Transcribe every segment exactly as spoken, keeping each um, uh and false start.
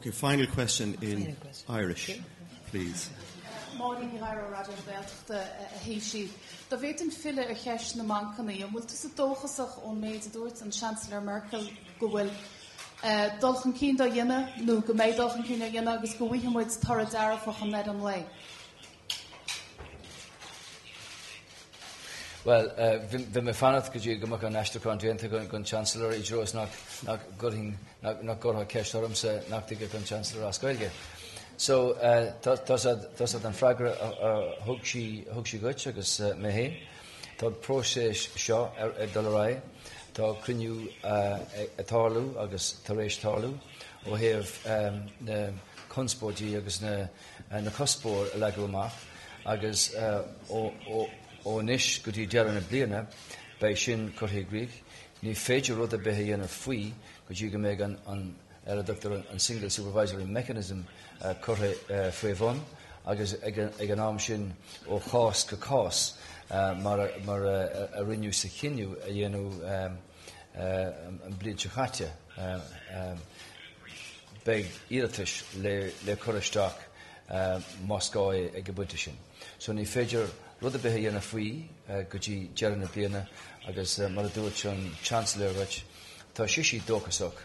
Okay, final question in Final question. Irish, Okay. please. Máirín Ní Ghadhra Raidió na Gaeltachta a Thaoisigh. Dá bhféadfainn filleadh ar cheist na mbancanna, an bhfuil tú dóchasach ón méid a dúirt an Chancellor Merkel go bhfuil uh, dul chun cinn á dhéanamh nó go mbeidh dul chun cinn á dhéanamh agus go bhfaighidh muid toradh dearfach i ndeireadh an lae. Well, bhí mé fanacht go dtí go mbeadh an aistriúchán déanta ag an Chancellor i dtreo nach nach nach gcuirfeá ceist ormsa nach dtuigfeadh an Chancellor as Gaeilge. So tá an freagra a thug sí thug sí dhuit agus mé féin. Tá próiseas seo ar ag dul ar aghaidh, Tá cruinniú ag tarlú agus tar éis tarlú ó thaobh na conspóidí agus na na cuspóir a leagadh amach agus ó ó ó anois go dtí deireadh na bliana beidh sin curtha i gcrích. Ní féidir rud ar bith a dhéanamh faoi go dtí go mbeidh an an ar a dtugtar an Single Supervisory Mechanism curtha faoi bhun agus ag ag an am sin ó chás go cás mar mar a rinneadh sa chinneadh a dhéanamh an bhliain seo caite. Beidh iarratais le le cur isteach más gá é ag an bpointe sin. So ní féidir rud ar bith a dhéanamh faoi go dtí deireadh na bliana agus mar a dúirt an Chancellor dhuit, tá sise dóchasach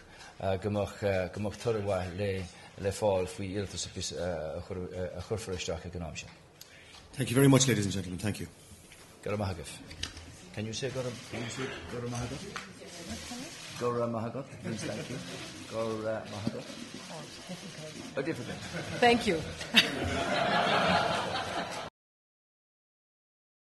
go mbeadh go mbeadh toradh mhaith le le fáil faoi iarratas a chuirfear isteach ag an am sin. Thank you very much, ladies and gentlemen. Thank you. Go raibh maith agaibh. Can you say go raibh can you say go raibh maith agat? Go raibh maith agat means thank you. Go raibh maith agat. Oh, it's difficult. Oh, difficult. Thank you.